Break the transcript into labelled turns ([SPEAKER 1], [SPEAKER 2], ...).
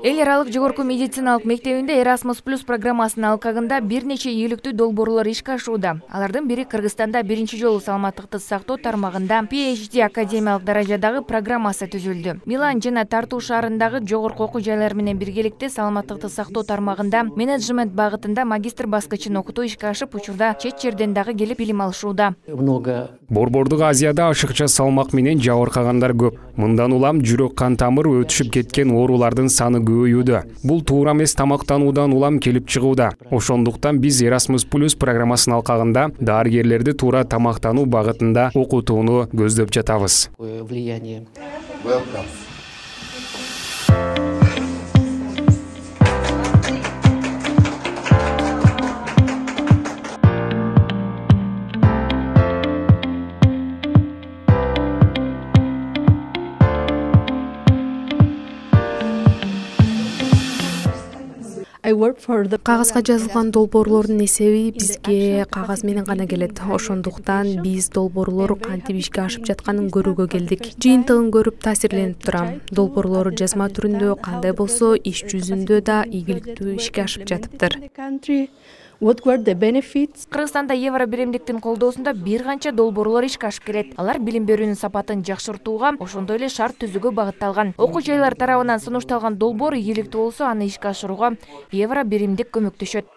[SPEAKER 1] Эл аралык жогорку медициналык мектебинде Erasmus Plus программасынын алкагында бир нече ийгиликтүү долбоорлор ишке ашууда. Алардын бири Кыргызстанда биринчи жолу саламаттыкты сактоо тармагында PhD академиялык даражадагы программасы түзүлдү. Милан жана Тарту шаарындагы жогорку окуу жайлар менен биргеликте саламаттыкты сактоо тармагында менеджмент багытында магистр баскычын окутуу ишке ашып, учурда чет жерден дагы келип билим алышууда.
[SPEAKER 2] Борбордук Азияда ашыкча салмак менен жабыркагандар көп. Мындан улам жүрөк кан тамыр өтүшүп кеткен оорулардын саны көбөйүүдө. Бул туура эмес тамактануудан улам келип чыгууда. Ошондуктан биз Erasmus Plus программасынын алкагында дарыгерлерди туура тамактануу багытында окутууну көздөп жатабыз.
[SPEAKER 3] Кагазга жазылган долбоорлордун эсеби бизге кагаз менен гана келет. Ошондуктан биз долбоорлор кантип ишке ашып жатканын көрүүгө келдик. Жыйынтыгын көрүп таасирленип турам. Долбоорлор жазма түрүндө кандай болсо, иш жүзүндө да ийгиликтүү ишке ашып жатыптыр.
[SPEAKER 1] Кыргызстанда евро биримдиктин колдоосунда бир канча долбоорлор ишке ашып келет. Алар билим берүүнүн сапатын жакшыртууга, ошондой эле шарт түзүүгө багытталган. Окуу жайлар тарабынан сунушталган долбоор ийгиликтүү болсо, аны ишке ашырууга евро биримдик көмөктөшөт.